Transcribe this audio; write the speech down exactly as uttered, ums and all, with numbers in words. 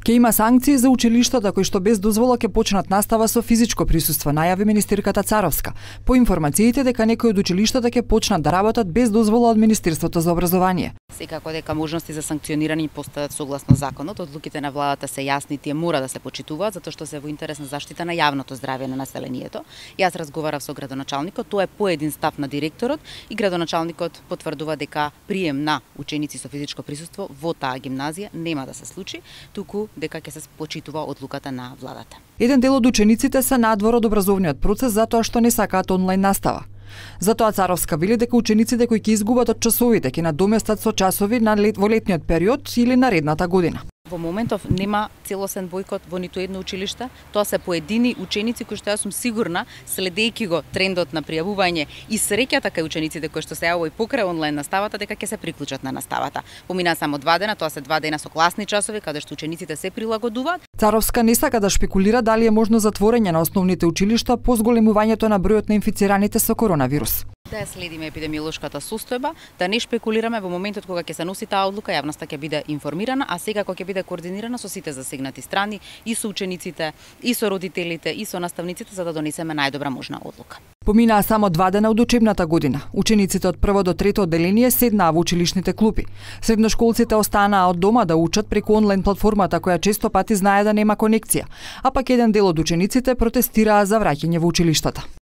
Ке има санкции за училиштата кои што без дозвола ќе почнат настава со физичко присуство, најави министерката Царовска. По информациите дека некои од училиштата ќе почнат да работат без дозвола од Министерството за образование. Секако дека можности за санкционирање постојат согласно законот, одлуките на владата се јасни, тие мора да се почитуваат затоа што се во интерес на заштита на јавното здравје на населението. Јас разговарав со градоначалникот, тоа е по един став на директорот и градоначалникот потврдува дека прием на ученици со физичко присуство во таа гимназија нема да се случи, туку дека ќе се почитува одлуката на владата. Еден дел од учениците се надвор од образовниот процес затоа што не сакаат онлайн настава. Затоа Царовска вели дека учениците кои ќе изгубат од часовите ќе надоместат со часови на лет, во летниот период или наредната година. Во моментов нема целосен бојкот во ниту едно училиште, тоа се поедини ученици кои што јас сум сигурна, следејќи го трендот на пријавување и среќата кај учениците кои што се јавува и покрај онлайн наставата, дека ќе се приклучат на наставата. Помина само два дена, тоа се два дена со класни часови каде што учениците се прилагодуваат. Царовска не сака да шпекулира дали е можно затворење на основните училишта по зголемувањето на бројот на инфицираните со коронавирус. Да ја следиме епидемиолошката состојба, да не шпекулираме во моментот кога ќе се носи таа одлука, јавноста ќе биде информирана, а сега кога ќе биде координирана со сите засегнати страни, и со учениците, и со родителите, и со наставниците, за да донесеме најдобра можна одлука. Поминаа само два дена од учебната година. Учениците од прво до трето одделение седнаа во училишните клупи. Средношколците останаа од дома да учат преку онлайн платформата која често пати знае да нема конекција, а пак еден дел од учениците протестираа за враќање во училиштата.